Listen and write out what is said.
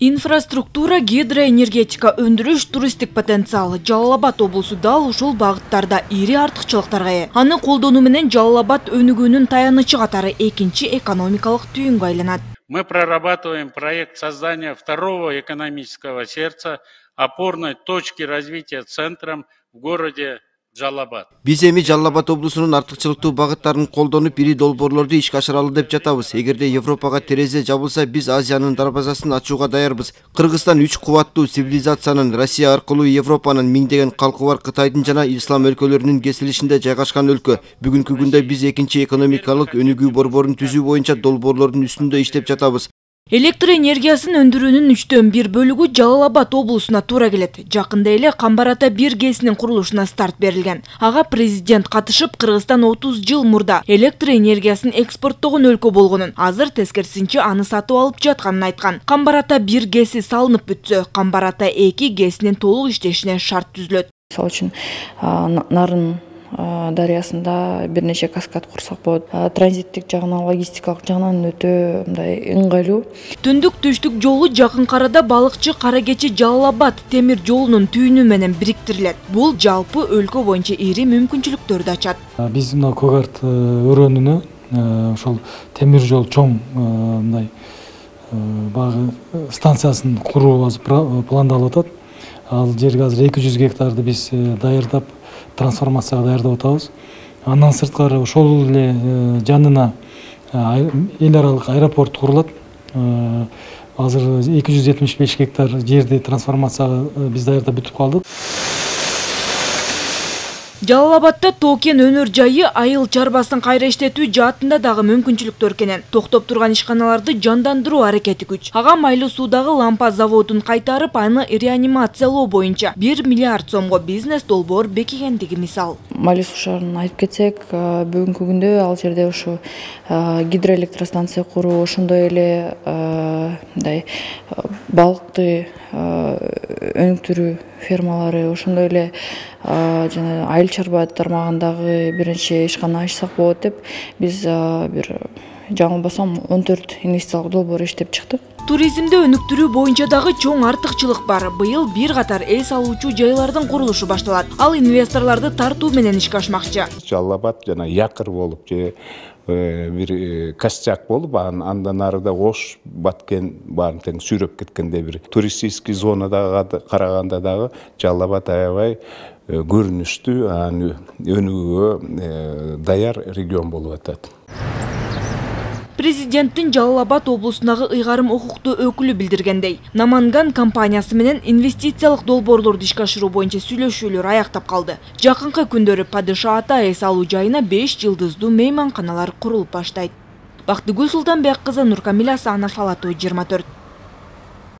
Инфраструктура, гидроэнергетика, өндүрүш, туристтик потенциал. Жалал Абад облусу дал ушул багыттарда ири артыкчылыктарга ээ. Аны колдонуу менен Жалал Абад өнүгүүнүн таянычы катары экинчи экономикалык түйүнгө айланат. Мы прорабатываем проект создания второго экономического сердца, опорной точки развития центром в городе Жалал Абад. Биз эми Жалал Абад облусунун артыкчылыктуу багыттарын колдонуп, ири долбоорлорду ишке ашыралы деп жатабыз. Эгерде Европага терезе жабылса, биз Азиянын дарбазасын ачууга даярбыз. Кыргызстан 3 кубаттуу цивилизациянын, Россия аркылуу Европанын миңдеген калкы бар Кытайдын жана ислам өлкөлөрүнүн кесилишинде жайгашкан өлкө. Бүгүнкү күндө биз экинчи экономикалык өнүгүү борборун түзүү боюнча долбоорлордун үстүндө иштеп жатабыз. Электр энергиясын өндүрүүнүн 1/3 бөлүгү Жалал Абад облусуна туура келет. Жакында эле Камбар Ата 1 ГЭСинин курулушуна старт берилген. Ага президент катышып, Кыргызстан 30 жыл мурда электр энергиясын экспорттогон өлкө болгонун, азыр тескерисинче аны сатып алып жатканын айткан. Камбар Ата 1 ГЭСи салынып бүтсө, Камбар Ата 2 ГЭСинин толук иштешине шарт түзүлөт. Мисалы үчүн Нарын дарыясында бир нече каскад курсак болот. Транзиттик жагынан, логистикалык жагынан өтө мындай ыңгайлуу. Түндүк түштүк жолу жакынкы арада балыкчы Кара Кечи Жалал Абад темир жолунун түйүнү менен бириктирилет. Бул жалпы өлкө боюнча ири мүмкүнчүлүктөрдү ачат. Биз мына Когарт өрөөнүнө ошол темир жол чоң мындай багы станциясын куруу пландалып атат. Ал жерге азыр 200 гектарды биз даярдап, трансформацияга даярдап атабыз. Андан сырткары ошол эле жанына эл аралык аэропорт курулат. Азыр 275 гектар жерди трансформацияга биз даярдап бүтүп калдык. Жалал Абадда тоо-кен өнөр жайы айыл чарбасын кайра иштетүү жаатында дагы мүмкүнчүлүктөр кенен. Токтоп турган ишканаларды жандандыруу аракети күч. Ага майлуу суудагы лампа заводун кайтарып, аны реанимациялоо боюнча 1 миллиард сомго бизнес долбоор бекигендиги мисал. Майлуу суу шаарын айтып кетсек, бүгүнкү күндө ал жерде ушу гидроэлектростанция куруу, ошондой эле мындай балыкты өнүктүрүү фермалары, ошондой эле жана айыл чарба тармагындагы бир нече ишкана ачсак болот деп биз бир жаңылбасам 14 инвестициялык долбоор иштеп чыктык. Туризмди өнүктүрүү боюнча дагы чоң артыкчылык бар. Быйыл бир катар эс алуучу жайлардын курулушу башталат. Ал инвесторлорду тартуу менен ишке ашмакчы. Жалал Абад жана якыр болуп же бир костяк болуп, андан арыда Ош, Баткен баарын тең сүйрөп кеткенде бир туристический зонада караганда дагы Жалал Абад аябай көрүнүштүү, өнүгүүгө даяр регион болуп атат. Президенттин Жалал Абад облусундагы ыйгарым укуктуу өкүлү билдиргендей, Наманган компаниясы менен инвестициялык долбоорлорду ишке ашыруу боюнча сүйлөшүүлөр аяктап калды. Жакынкы күндөрү Падыша Ата эс алуу жайына 5 жылдыздуу мейманканалар курулуп баштайт. Бактыгүл Султанбек кызы, Нуркамил Асанов, Ала Тоо 24.